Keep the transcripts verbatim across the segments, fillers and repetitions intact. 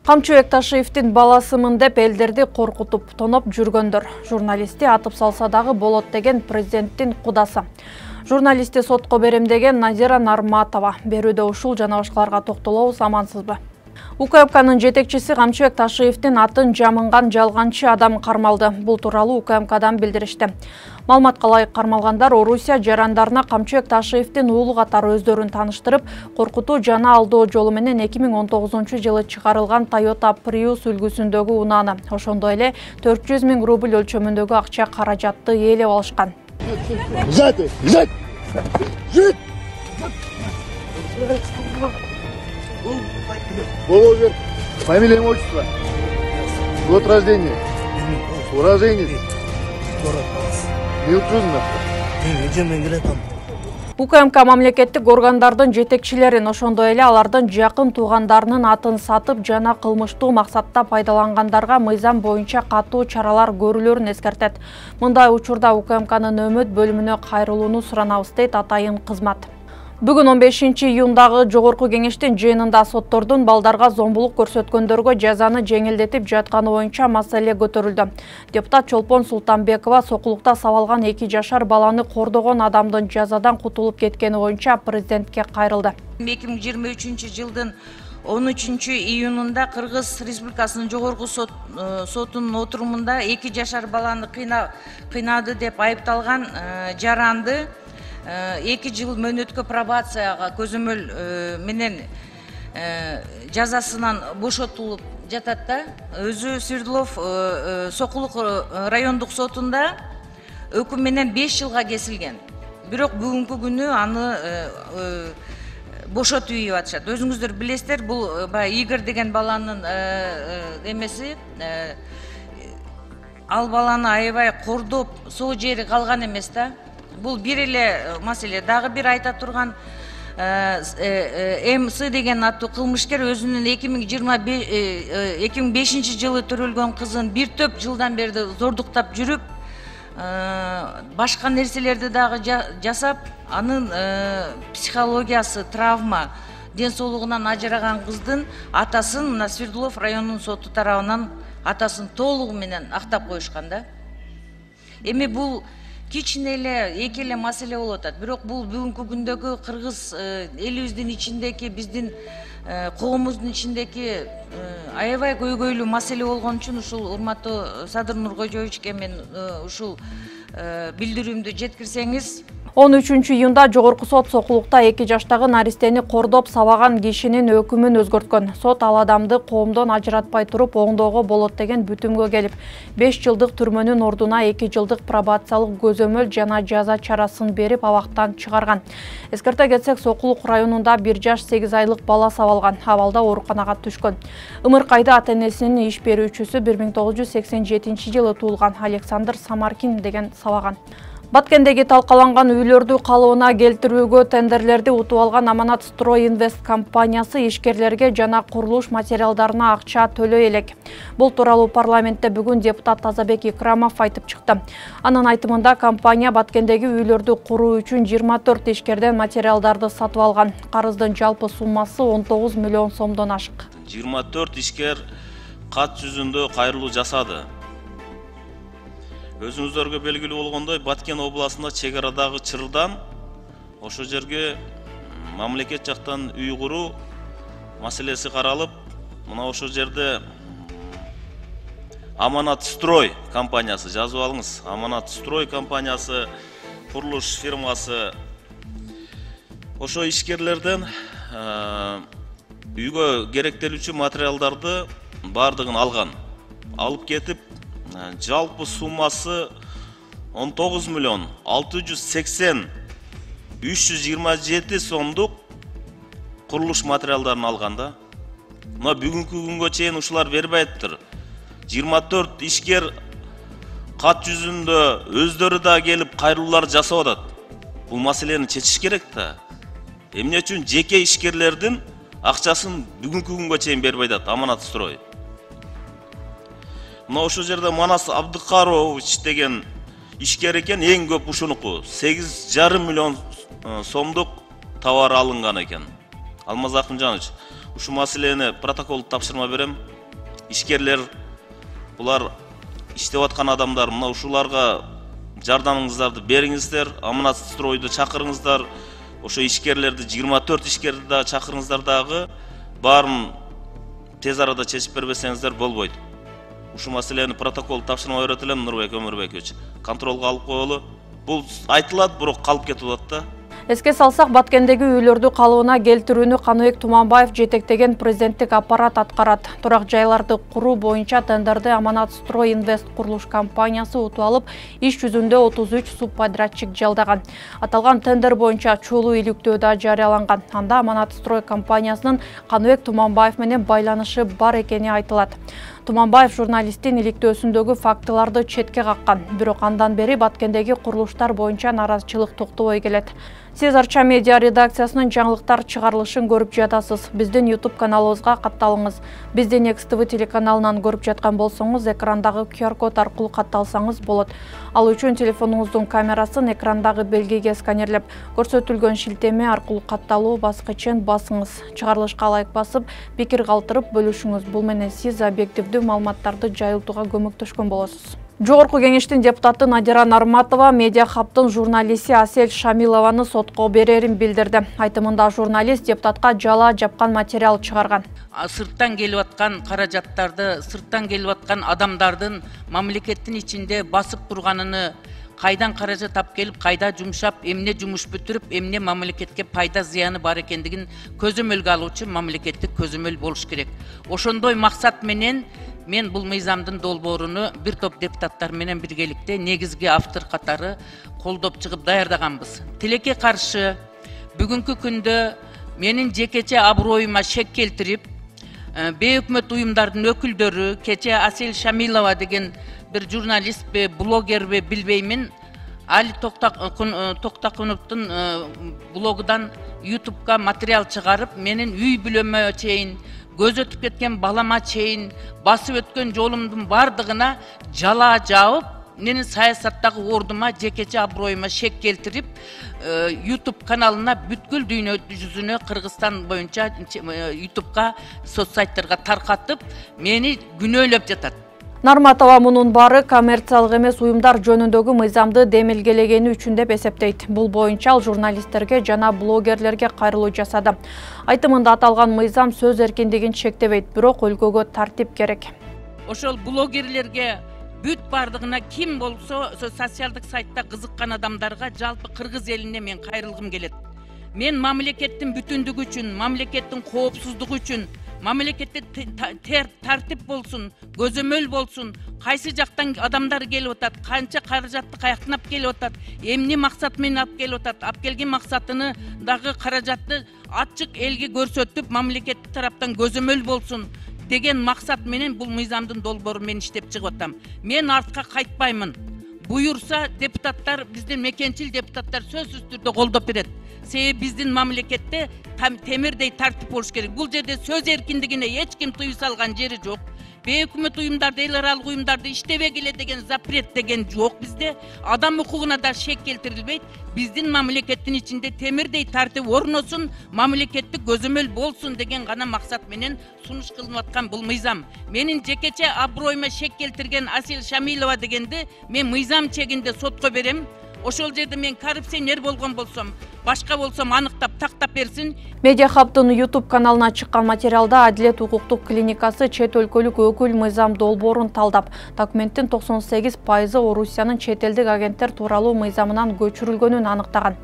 Камчыбек Ташиевдин баласымын деп элдерди коркутуп, тоноп жүргөндөр. Журналистти атып салса дагы болот деген президенттин кудасы. Журналистти сотко берем деген Назира Нарматова. Берүүдө ушул жана башкаларга токтолобуз, амансызбы? УКМКнын жетекчиси Камчыбек Ташиевдин атын жамынган жалганчы адам кармалды. Бул тууралуу УКМКдан билдиришти. Маалыматка ылайык кармалгандар Орусия жарандарына Камчыбек Ташиевдин уулу катары өздөрүн тааныштырып, коркутуу жана алдоо жолу менен эки миң он тогузунчу жылы чыгарылган Toyota Prius үлгүсүндөгү унааны, ошондой эле төрт жүз миң рубль өлчөмүндөгү акча каражатты ээлеп алышкан. Головер, фамилия, имя, отчество, год рождения, уроженец, УКМК мамлекеттик органдардын жетекчилерин, ошондой эле алардын жакын туугандарынын атын сатып жана кылмыштуу максатта пайдалангандарга мыйзам боюнча катуу чаралар көрүлөрүн эскертет. Мындай учурда УКМКнын өмөт бөлүмүнө кайрылууну суранабыз, дейт атайын кызмат. Бүгүн он бешинчи июндагы жогорку кеңештин жыйынында соттордун балдарга зомбулук көрсөткөндөргө жазаны жеңилдетип жатканы боюнча маселе көтөрүлдү. Депутат Чолпон Султанбекова сокулукта сабалган эки жашар баланы кордогон адамдын жазадан кутулуп кеткени боюнча президентке кайрылды. эки миң жыйырма үчүнчү жылдын он үчүнчү июнунда Кыргыз Республикасынын жогорку сот, сотунун отурумунда эки жашар баланы кыйнады деп айыпталган жаранды эки жыл мөөнөткө пробацияга көзөмөл менен жазасынан бошотулуп жатат да. Өзү Свердлов Сокулук райондук сотунда өкүм менен беш жылга кесилген. Бирок бүгүнкү күнү аны бошотуп ийип атышат. Өзүңүздөр билесиздер, бул баягы Игорь деген баланын эмеси, ал баланы аябай кордоп, соо жери калган эмес да. Бул бир эле маселе. Дагы бир айта турган МС деген аттуу кылмышкер өзүнүн эки миң бешинчи жылы төрөлгөн кызын бир топ жылдан бери зордуктап жүрүп, башка нерселерди дагы жасап, анын психологиясы, травма, ден соолугунан ажыраган кыздын атасын мына Свердлов районунун соту тарабынан атасын толугу менен актап коюшкан да. Эми бул кичине эле эки эле маселе болуп атат. Бирок бул бүгүнкү күндөгү кыргыз элибиздин ичиндеки, биздин коомубуздун ичиндеки аябай көйгөйлүү маселе болгон үчүн ушул урматтуу Садыр Нуркожоевичке мен ушул билдирүүмдү жеткирсеңиз. он үчүнчү июнда жогорку сот Сокулукта эки жаштагы наристени кордоп сабаган кишинин өкүмүн өзгөрткөн. Сот ал адамды коомдон ажыратпай туруп оңдоого болот деген бүтүмгө келип, беш жылдык түрмөнүн ордуна эки жылдык пробациялык көзөмөл жана жаза чарасын берип абактан чыгарган. Эскерте кетсек, Сокулук районунда бир жаш сегиз айлык бала сабалган, абалда ооруканага түшкөн. Ымыркайда ата-энесинин иш берүүчүсү бир миң тогуз жүз сексен жетинчи жылы туулган Александр Самаркин деген сабаган. Баткендеги талкаланган үйлөрдү калыбына келтирүүгө тендерлерди утуп алган Аманат Строй Инвест компаниясы ишкерлерге жана курулуш материалдарына акча төлөй элек. Бул тууралуу парламентте бүгүн депутат Тазабек Икрамов айтып чыкты. Анын айтымында компания Баткендеги үйлөрдү куруу үчүн жыйырма төрт ишкерден материалдарды сатып алган. Карыздын жалпы суммасы он тогуз миллион сомдон ашык. жыйырма төрт ишкер кат жүзүндө кайрылуу жасады. Өзүңүздөргө белгилүү болгондой, Баткен областында чек арадагы Чырдан ошо жерге мамлекет жактан үй куруу маселеси каралып, мына ошо жерде Аманат Строй компаниясы, жазып алыңыз, Аманат Строй компаниясы, курулуш фирмасы ошо ишкерлерден үйгө керектелүүчү материалдарды бардыгын алган. Алып кетип, жалпы суммасы он тогуз миллион алты жүз сексен үч жүз жыйырма жети сомдук курулуш материалдарын алганда. Мына бүгүнкү күнгө чейин ушулар бербейптир. жыйырма төрт ишкер кат жүзүндө өздөрү да келип кайрылуулар жасап атат. Бул маселени чечиш керек да. Эмне үчүн жеке ишкерлердин акчасын бүгүнкү күнгө чейин бербей атат Аманат Строй. Мына ошо жерде Манас Абдыкарович деген ишкер экен, эң көп ушунуку сегиз жарым миллион сомдук товар алынган экен. Алмаз Акынжанович, ушул маселени протоколдук тапшырма берем. Ишкерлер, булар иштеп аткан адамдар, мына ушуларга жардамыңыздарды бериңиздер, Аманат стройду чакырыңыздар. Ошо ишкерлерди жыйырма төрт ишкерди да чакырыңыздар дагы, баарын тез арада чечип бербесеңиздер болбойт. Ушул маселени протокол тапшырма берет элем, Нурбек Өмүрбекович. Контролго алып коелу. Бул айтылат, бирок калып кетип атат да. Эске салсак, Баткендеги үйлөрдү калыбына келтирүүнү Каныбек Туманбаев жетектеген президенттик аппарат аткарат. Турак жайларды куруу боюнча тендерди Аманат Строй Инвест курулуш компаниясы утуп алып, иш жүзүндө отуз үч субподрядчик жалдаган. Аталган тендер боюнча чуулуу иликтөө да жарыяланган. Анда Аманат Строй компаниясынын Каныбек Туманбаев менен байланышы бар экени айтылат. Туманбаев журналисттин иликтөөсүндөгү фактыларды четке каккан. Бирок андан бери Баткендеги курулуштар боюнча наразычылык токтобой келет. Сиз Арча медиа редакциясынын жаңылыктар чыгарылышын көрүп жатасыз. Биздин YouTube каналыбызга катталыңыз. Бизди Next ти ви телеканалынан көрүп жаткан болсоңуз, экрандагы ку ар код аркылуу катталсаңыз болот. Ал үчүн телефонуңуздун камерасын экрандагы белгиге сканерлеп, көрсөтүлгөн шилтеме аркылуу катталуу баскычын басыңыз. Чыгарылышка лайк басып, пикир калтырып бөлүшүңүз. Бул менен сиз объективдүү маалыматтарды жайылтууга көмөктөшкөн болосуз. Жогорку кеңештин депутаты Надира Нарматова Медиа Хабтын журналисти Асель Шамилованы сотко берерин билдирди. Айтымында журналист депутатка жала жапкан материал чыгарган. Сырттан келип аткан каражаттарды, сырттан келип аткан адамдардын мамлекеттин ичинде басып турганын, кайдан каражат тап келип, кайда жумшап, эмне жумуш бүтүрүп, эмне мамлекетке пайда зыяны бар экендигин көзөмөлгө алуучу мамлекеттик көзөмөл болуш керек. Ошондой максат менен мен бул мыйзамдын долбооруну бир топ депутаттар менен биргеликте негизги автор катары колдоп чыгып даярдаганбыз. Тилекке каршы бүгүнкү күндө менин жекече аброюма шек келтирип, бейөкмөт уюмдардын өкүлдөрү, кече Асель Шамилова деген бир журналистпи, блогерби билбеймин, Али Токтакуновдун блогудан ютубка материал чыгарып, менин үй бүлөмө чейин, көз өтүп кеткен балама чейин, басып өткөн жолумдун бардыгына жала жаып, менин саясаттагы ордума, жекече аброюма шек келтирип, YouTube каналына бүткүл дүйнө жүзүнө Кыргызстан боюнча ютубка, соцсайттарга таркатып, мени күнөөлөп жатат. Нарматова мунун баары коммерциялык эмес уюмдар жөнүндөгү мыйзамды демилгелегени үчүн деп эсептейт. Бул боюнча ал журналисттерге жана блогерлерге кайрылуу жасады. Айтымында аталган мыйзам сөз эркиндигин чектебейт, бирок өлкөгө тартип керек. Ошол блогерлерге бүт бардыгына ким болсо, социалдык сайтта кызыккан адамдарга жалпы Кыргыз элине мен кайрылгым келет. Мен мамлекеттин бүтүндүгү үчүн, мамлекеттин коопсуздугу үчүн, мамлекетте тартип болсун, көзөмөл болсун, кайсы жактан адамдар келип атат, канча каражатты каяктан алып келип атат, эмне максат менен алып келип атат, алып келген максатыны дагы каражатты ачык элге көрсөтүп, мамлекет тараптан көзөмөл болсун деген максат менен бул мыйзамдын долбоору мен иштеп чыгып атам. Мен артка кайтпаймын. Буюрса депутаттар, биздин мекенчил депутаттар сөзсүз түрдө колдоп берет. Себеби биздин мамлекетте темирдей тартип болуш керек. Бул жерде сөз эркиндигине эч ким тыюу салган жери жок. Бейөкмөт уюмдарды, эл аралык уюмдарды иштебегиле деген запрет деген жок бизде. Адам укугуна да шек келтирилбейт. Биздин мамлекеттин ичинде темирдей тартип орносун, мамлекеттик көзөмөл болсун деген гана максат менен сунуш кылынып аткан бул мыйзам. Менин жекече аброюма шек келтирген Асель Шамилова дегенди мен мыйзам чегинде сотко берем. Ошол жерде мен коррупционер болгон болсом, башка болсом аныктап, тактап берсин. Медиа Хабтын YouTube каналына чыккан материалда Адилет укуктук клиникасы чет өлкөлүк өкүл мыйзам долбоорун талдап, документтин токсон сегиз пайызы Орусиянын чет элдик агенттер тууралуу мыйзамынан көчүрүлгөнүн аныктаган.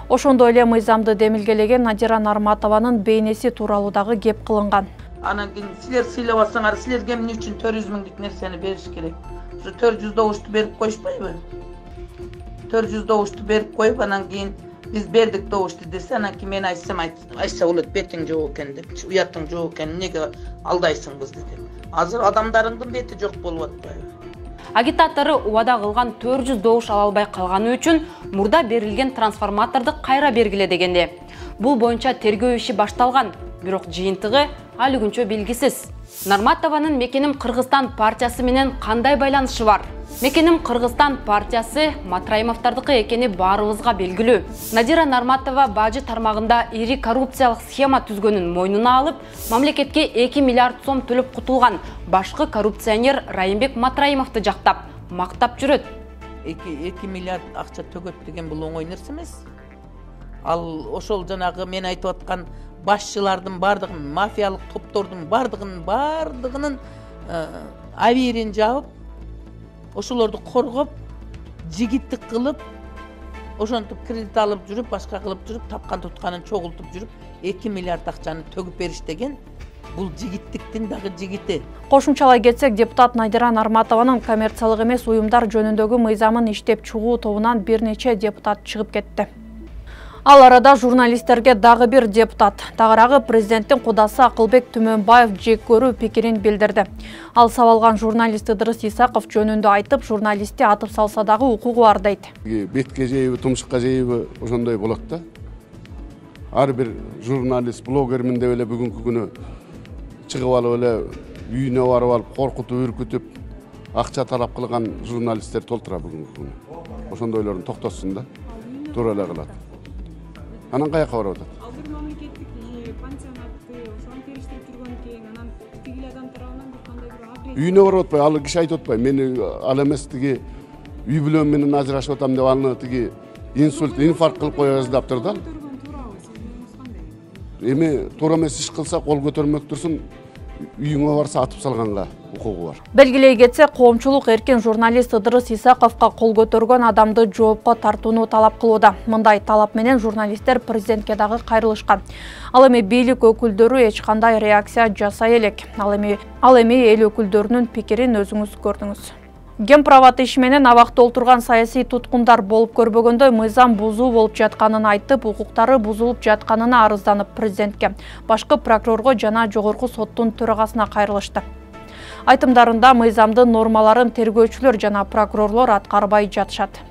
Ошондой эле мыйзамды демилгелеген Надира Нарматованын бейнеси тууралуу дагы кеп кылынган. Анан кийин силер сыйлап алсаңар, силерге эмне үчүн төрт жүз миңдик нерсени бериш керек? Ушу төрт жүз добушту берип коюшпайбы? төрт жүз добушту берип коюп, анан кийин биз бердик добушту десе, анан кийин мен айтсам айтса болот, бетиң жок экен деп, уятың жок экен, эмнеге алдайсың бизди деп. Азыр адамдарыңдын бети жок болуп атпайбы? Агитатору убада кылган төрт жүз добуш ала албай калганы үчүн мурда берилген трансформаторду кайра бергиле дегенде. Бул боюнча тергөө иши башталган, бирок жыйынтыгы али күнчө белгисиз. Нарматованын Мекеним Кыргызстан партиясы менен кандай байланышы бар? Мекеним Кыргызстан партиясы Матраимовдордуку экени баарыбызга белгилүү. Надира Нарматова бажы тармагында ири коррупциялык схема түзгөнүн мойнуна алып, мамлекетке эки миллиард сом төлөп кутулган башкы коррупционер Райымбек Матраимовду жактап, мактап жүрөт. эки миллиард акча төгөт деген бул оңой нерсе эмес. Ал ошол жанагы мен айтып аткан башчылардын бардыгын, мафиялык топтордун бардыгынын бардыгынын абийирин жабып, ошолорду коргоп, жигиттик кылып, ошентип кредит алып жүрүп, башка кылып жүрүп, тапкан тутканын чогултуп жүрүп, эки миллиард акчаны төгүп бериш деген бул жигиттиктин дагы жигити. Кошумчалай кетсек, депутат Надира Нарматованын коммерциялык эмес уюмдар жөнүндөгү мыйзамын иштеп чыгуу тобунан бир нече депутат чыгып кетти. Ал арада журналисттерге дагы бир депутат, тагыраагы президенттин кудасы Акылбек Түмөнбаев жек көрүү пикирин билдирди. Ал сабалган журналист Ыдырыс Исаков жөнүндө айтып, журналистти атып салса дагы укугу бар дейт. Бетке жейби, тумшукка жейби ошондой болот да. Ар бир журналист, блогермин деп эле бүгүнкү күнү чыгып алып эле үйүнө барып алып, коркутуп, үркүтүп, акча талап кылган журналисттер толтура бүгүнкү күнү. Ошондойлорун токтотсун да. Туура эле кылат. Анан каяка барып атат? Ал бир мамлекеттик пансионатты, ошону териштирип жүргөн экен, анан тигил адам тарабынан бир кандай бир агрессия. Үйүнө барып атпай, ал киши айтып атпай, мени ал эмес тиги үй бүлөм менен ажырашып атам деп аны тиги инсульт, инфаркт кылып кое жаздаптыр да. Эми туура эмес иш кылса кол көтөрмөк турсун, үйүңө барса атып салганга укугу бар. Белгилей кетсе, коомчулук эркин журналист Ыдырыс Исаковго кол көтөргөн адамды жоопко тартууну талап кылууда. Мындай талап менен журналисттер президентке дагы кайрылышкан. Ал эми бийлик өкүлдөрү эч кандай реакция жасай элек. Ал эми ал эми эл өкүлдөрүнүн пикирин өзүңүз көрдүңүз. Гемправат иши менен абакта отурган саясий туткундар болуп көрбөгөндөй мыйзам бузуу болуп жатканын айтып, укуктары бузулуп жатканына арызданып президентке, башкы прокурорго жана жогорку соттун төрагасына кайрылышты. Айтымдарында мыйзамдын нормаларын тергөөчүлөр жана прокурорлор аткарбай жатышат.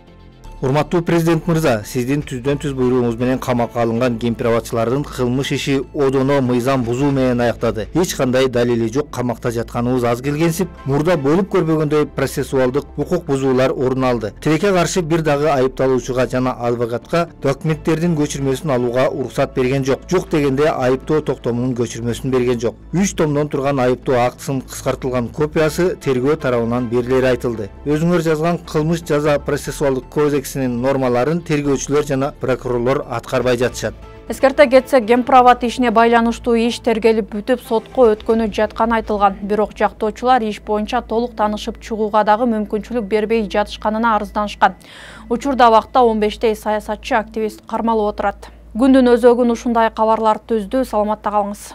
Урматтуу президент мырза, сиздин түздөн түз буйругуңуз менен камакка алынган гемправатчылардын кылмыш иши одоно мыйзам бузуу менен аяктады. Эч кандай далили жок, камакта жатканыбыз аз келгенсип, мурда болуп көрбөгөндөй процессуалдык укук бузуулар орун алды. Тилекке каршы бир дагы айыпталуучуга жана адвокатка документтердин көчүрмөсүн алууга уруксат берген жок. Жок дегенде айыптоо токтомунун көчүрмөсүн берген жок. үч томдон турган айыптоо актысынын кыскартылган копиясы тергөө тарабынан берилери айтылды. Өзүңөр жазган кылмыш жаза процессуалдык кодекс нормаларын тергөөчүлөр жана прокурорлор аткарбай жатышат. Эскерте кетсек, гемправат ишине байланыштуу иш тергелип бүтүп сотко өткөнү жатканы айтылган. Бирок жактоочулар иш боюнча толук таанышып чыгууга дагы мүмкүнчүлүк бербей жатышканына арызданышкан. Учурда абакта он бештей саясатчы, активист кармалып отурат. Күндүн өзөгүн ушундай кабарлар түздү. Саламатта калыңыз.